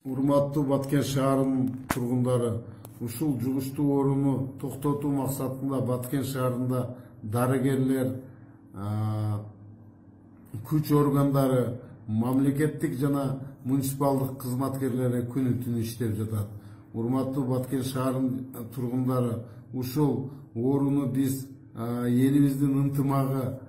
Урматтуу Баткен шаарынын тургундары, ушул жугуштуу ооруну токтотуу максатында Баткен шаарында дарыгерлер, күч органдары, мамлекеттик жана муниципалдык кызматкерлери күнү-түнү иштеп жатат. Урматтуу Баткен шаарынын тургундары, ушул ооруну биз элибиздин ынтымагы,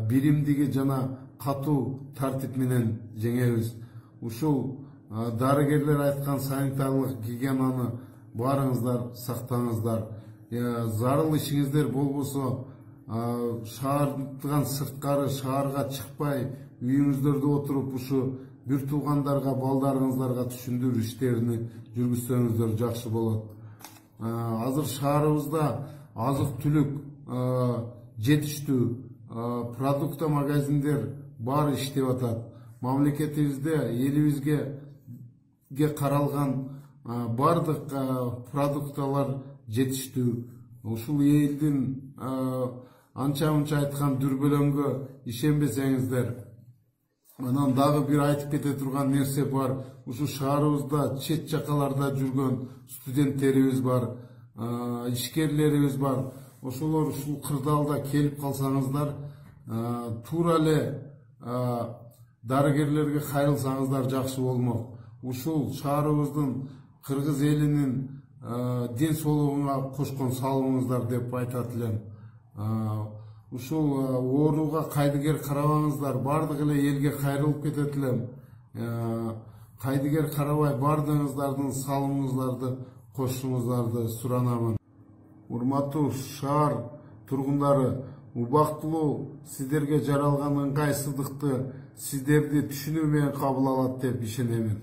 биримдиги жана катуу тартип менен жеңебиз. Ушул дарыгерлер айткан санитарлык гигиенаны баарыңыздар сактаңыздар. Зарыл ишиңиздер болбосо шаардын сырткары, шаарга чыкпай, үйүңүздөрдө отуруп ушу бир туугандарга, балдарыңыздарга түшүндүрүү иштерин жүргүзсөңүздөр жакшы болот. Азыр шаарыбызда азык-түлүк жетиштүү, продукта магазиндер баары иштеп атат. Мамлекетибизде элибизге каралган бардык продукталар жетиштүү. Ушул элдин анча-мынча айткан дүрбөлөңгө ишенбесеңиздер, анан дагы бир айтып кете турган нерсе бар. Ушу шаарыбызда чет жакаларда жүргөн студенттерибиз бар, ишкерлерибиз бар. Ошолор ушул кырдаалда келип калсаңыздар, туура эле дарыгерлерге кайрылсаңыздар жакшы болмок. Ушул шаарыбыздын, кыргыз элинин ден соолугуна кошкон салымыңыздар деп айтат элем. Ушул ооруга кайдыгер карабаңыздар, бардык эле элге кайрылып кетет элем. Кайдыгер карабай бардыгыңыздардын салымыңыздарды кошушуңуздарды суранамын. Урматтуу шаар тургундары, убактылуу сиздерге жаралган ыңгайсыздыкты сиздерди түшүнүү менен кабыл алат деп ишенемин.